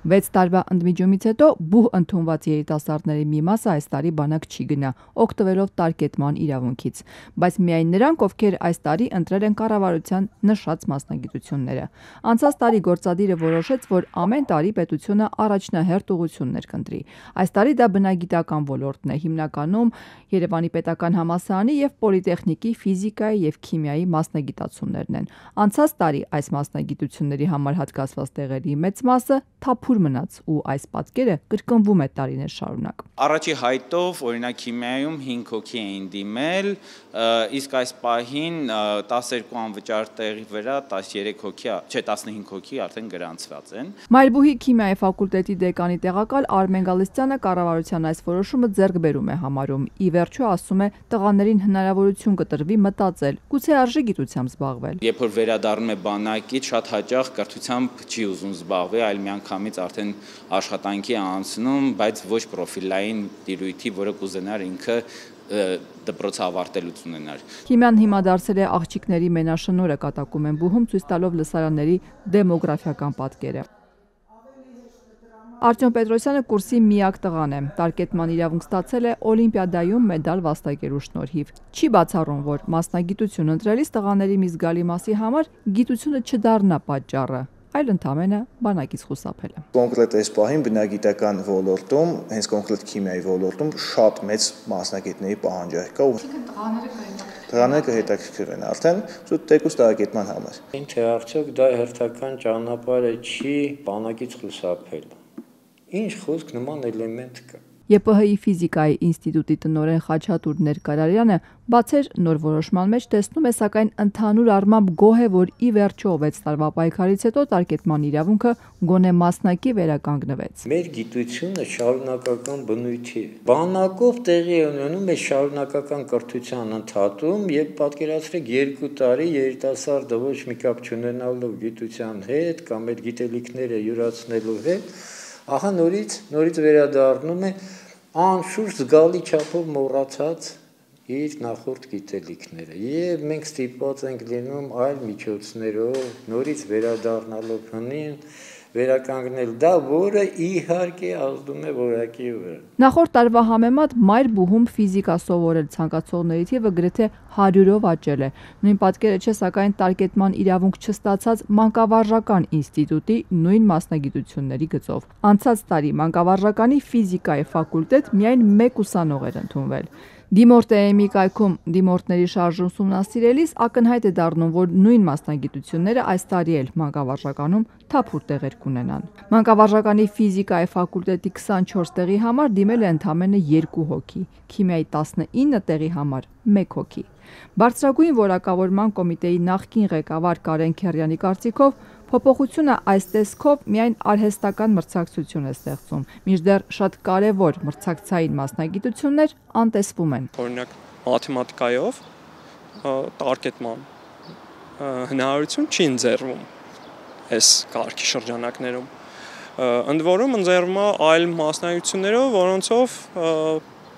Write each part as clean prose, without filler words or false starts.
6 տարվա ընդմիջումից հետո բուհ ընդունված երիտասարդների մի մասը այս տարի բանակ չի գնա, օգտվելով տարկետման իրավունքից, բայց միայն նրանք, ովքեր այս տարի ընտրել են կառավարության նշած մասնագիտությունները։ Անցած տարի գործադիրը որոշեց, որ ամեն տարի պետությունը առաջնահերթ ուղղություններ կընտրի։ Այս տարի դա բնագիտական ոլորտն է, հիմնականում Երևանի պետական համալսարանի և պոլիտեխնիկի ֆիզիկայի և քիմիայի մասնագիտացումներն են։ Անցած տարի այս մասնագիտությունների համար հատկացված տեղերի մեծ մասը թափուր մնաց ու այս պատկերը կրկնվում է տարիներ շարունակ։ Առաջի հայտով, օրինակ քիմիայում 5 հոգի էին դիմել, իսկ այս պահին 12 անվճար տեղի վրա 13 հոգի, չէ 15 հոգի արդեն գրանցված են։ Մայրբուհի քիմիայի ֆակուլտետի դեկանի տեղակալ Արմեն Գալստյանը կառավարության այս որոշումը ձեռքբերում է համարում։ Ի վերջո, ասում է, տղաներին հնարավորություն կտրվի մտածել, գուցե արժի գիտությամբ զբաղվել։ Երբ որ վերադառնում է բանակից, շատ հաճախ կրթությամբ չի ուզում զբաղվել, այլ միանգամից արդեն աշխատանքի անցնում, բայց ոչ պրոֆիլային տիրույթի, որը կուզենար ինքը դպրոց ավարտելուց ունենար։ Քիմիան հիմա դարձել է աղջիկների մենաշնորհը, կատակում են բուհում, ցույց տալով լսարանների դեմոգրաֆիական պատկերը։ Արտյոմ Պետրոսյանը կուրսի միակ տղան է, տարկետման իրավունք ստացել է օլիմպիադայում մեդալ վաստակելու շնորհիվ։ Չի բացառում, որ մասնագիտություն ընտրելիս տղաների մի զգալի մասի համար գիտությունը չդառնա պատճառը, այլ ընդամենը բանակից խուսափելը։ Կոնկրետ այս պահին բնագիտական ոլորտում, հենց կոնկրետ քիմիայի ոլորտում շատ մեծ մասնագետների պահանջարկ կա։ Տղաները կհետաքրքրվեն արդեն թեկուզ տարակետման համար։ Ինչ է արդյոք դա հերթական ճանապարհը չի բանակից խուսափել։ Ինչ խոսք նման էլեմենտ կա։ ԵՊՀ-ի ֆիզիկայի ինստիտուտի տնօրեն Խաչատուր Ներկարարյանը բացեր նոր որոշման մեջ տեսնում է, սակայն ընդհանուր առմամբ գոհ է, որ ի վերջո 6 տարվա պայքարից հետո տարկետման իրավունքը գոնե մասնակի վերականգնվեց։ Մեր գիտությունը շարունակական բնույթի է։ Բանակով տեղի է ունենում այս շարունակական կրթության ընդհատում եւ պատկերացրեք 2 տարի երիտասարդը ոչ մի կապ չունենալով գիտության հետ կամ այդ գիտելիքները յուրացնելու հետ, ահա նորից վերադառնում է անշուշտ զգալի չափով մոռացած իր նախորդ գիտելիքները եւ մենք ստիպված ենք լինում այլ միջոցներով նորից վերադառնալով հնին վերականգնել դա, որը իհարկե ազդում է որակի վրա։ Նախորդ տարվա համեմատ մայրբուհում ֆիզիկա սովորել ցանկացողների թիվը գրեթե 100-ով աճել է։ Նույն պատկերը չէ, սակայն տարկետման իրավունք չստացած մանկավարժական ինստիտուտի նույն մասնագիտությունների գծով։ Անցած տարի մանկավարժականի ֆիզիկայի ֆակուլտետ միայն 1 ուսանող էր ընդունվել։ Դիմորտ-ԷՄ-ի կայքում դիմորդների շարժում ուսումնասիրելիս ակնհայտ է դառնում, որ նույն մասնագիտությունները այս տարի էլ մանկավարժականում թափուր տեղեր կունենան։ Մանկավարժականի ֆիզիկայի ֆակուլտետի 24 տեղի համար դիմել է ընդամենը 2 հոգի, քիմիայի 19 տեղի համար 1 հոգի։ Բարձրագույն որակավորման կոմիտեի նախկին ղեկավար Կարեն Քերյանի կարծիքով փոփոխությունը այս տեսքով միայն արհեստական մրցակցություն է ստեղծում, մինչդեռ շատ կարևոր մրցակցային մասնագիտություններ անտեսվում են։ Օրինակ մաթեմատիկայով տարկետման հնարավորություն չի ընձեռվում այս կարգի շրջանակներում։ Ընդ որում ընձեռվում է այլ մասնագիտություններով, որոնցով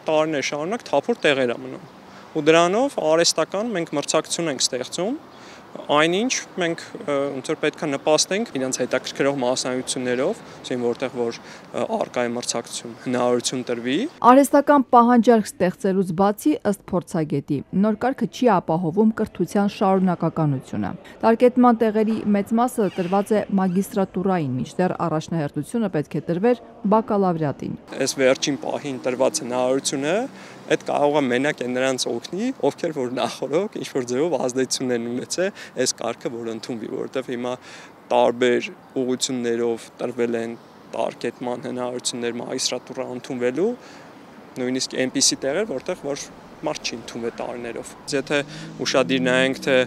տարիներ շարունակ թափուր տեղեր է մնում։ Ու դրանով արհեստական մենք մրցակցություն ենք ստեղծում, այնինչ մենք ոնց որ պետք է նպաստենք իրենց հետաքրքրող մասնագիտություններով, որտեղ որ առկա է մրցակցություն, հնարավորություն տրվի։ Արհեստական պահանջարկ ստեղծելուց բացի, ըստ փորձագետի, նոր կարգը չի ապահովում կրթության շարունակականությունը։ Տարկետման տեղերի մեծ մասը տրված է մագիստրատուրային, մինչդեռ առաջնահերթությունը պետք է տրվեր բակալավրիատին։ Այս վերջին պահին տրված հնարավորությունը այդ կարող է մենակ նրանց օգնի, ովքեր որ նախորդ ինչ-որ ձևով ազդեցություն են ունեցել այս կարգը, որ ընդունվի, որովհետև հիմա տարբեր ուղղություններով տրվել են տարկետման հնարավորություններ մագիստրատուրա ընդունվելու, նույնիսկ այնպիսի տեղեր, որտեղ որ մարդ չի ընդունվել տարիներով։ Եթե ուշադիր նայենք, թե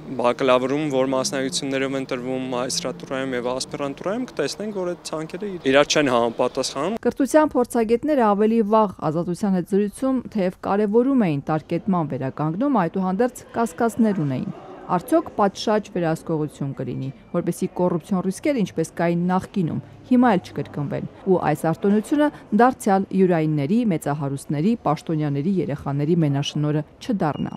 բակալավրում որ մասնագիտություններով են տրվում մագիստրատուրայում եւ ասպիրանտուրայում, կտեսնենք, որ այդ ցանկերը իրար չեն համապատասխանում։ Կրթության փորձագետները ավելի վաղ Ազատության հետ զրույցում թեև կարևորում էին տարկետման վերականգնում, այդուհանդերձ կասկածներ ունեին։ Արդյոք պատշաճ վերահսկողություն կլինի, որպեսզի կոռուպցիոն ռիսկերը, ինչպես կային նախկինում, հիմա էլ չկրկնվեն, ու այս արտոնությունը դարձյալ յուրայինների, մեծահարուստների, պաշտոնյաների երեխաների մենաշնորհը չդառնա։